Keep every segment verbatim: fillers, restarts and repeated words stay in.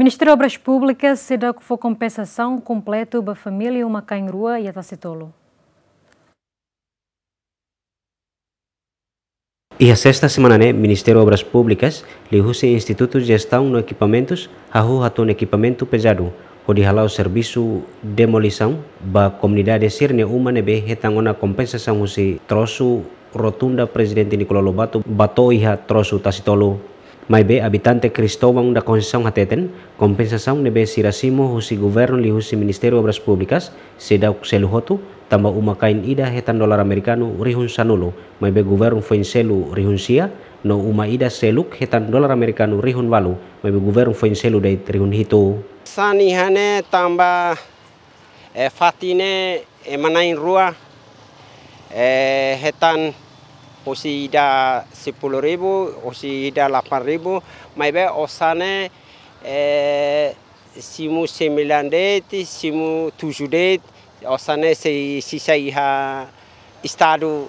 Ministériu Obras Públikas seidauk fó kompensasaun kompletu ba família uma-kain rua iha Tasitolu. Iha sesta semana ne'e, Ministériu Obras Públikas liuhusi Institutu Jestaun no Ekipamentus hahú hatun ekipamentu pezadu hodi hala'o servisu demolisaun ba komunidade sira-nia uma ne'ebé hetan ona kompensasaun husi trosu rotunda Prezidente Nicolau Lobato ba to'o iha trosu Tasitolu. Maibé abitante Cristóvão da Conceição hateten, kompensasaun ne'ebé sira simu husi governu liuhusi Ministériu Obras Públikas seidauk selu hotu, tanba uma-kain ida hetan dolar amerikanu rihun sanulu, maibé governu foin selu rihun sia, no uma ida seluk hetan dolar amerikanu rihun ualu, maibé governu foin selu de'it rihun hitu. Sani hane tanba, eh, fatin ne'e, eh, ema na'in rua, eh, hetan husi ida sepuluh ribu, husi ida delapan ribu, maibé osan ne'e, eh, simu sembilan de'it, simu tujuh de'it, osan ne'e sei sisa iha Estadu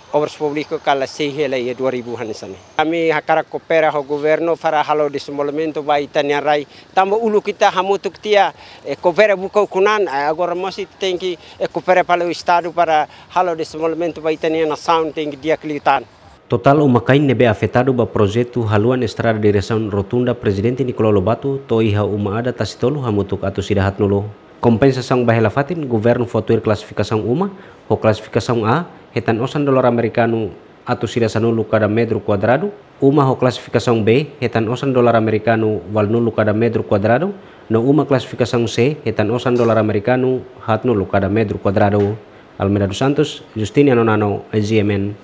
Obras Públikas kala sei hela iha dua ribu hanesan ne'e. Ami hakarak koopera ho governu para halo dezenvolvimentu ba ita-nia rai. Tanba uluk ita hamutuk tiha, eh, koopera buka ukun an, eh, agora mós ita tenke, eh, koopera fali ho Estadu para halo dezenvolvimentu ba ita-nia nasaun tenke di'ak liután. Totál uma-kain ne'ebé afetadu ba projetu haluan estrada diresaun rotunda Prezidente Nicolau Lobato to'o iha uma adat Tasitolu hamutuk atus ida haatnulu. Kompensasaun ba hela fatin, governu fó tuir klasifikasaun uma, ho klasifikasaun A, hetan osan dolar amerikanu atus ida sanulu kada metru kuadradu, uma ho klasifikasaun B, hetan osan dolar amerikanu ualunulu kada metru kuadradu, no uma klasifikasaun C, hetan osan dolar amerikanu haatnulu kada metru kuadradu. Almeida dos Santos, Justiniano Nano, G M N.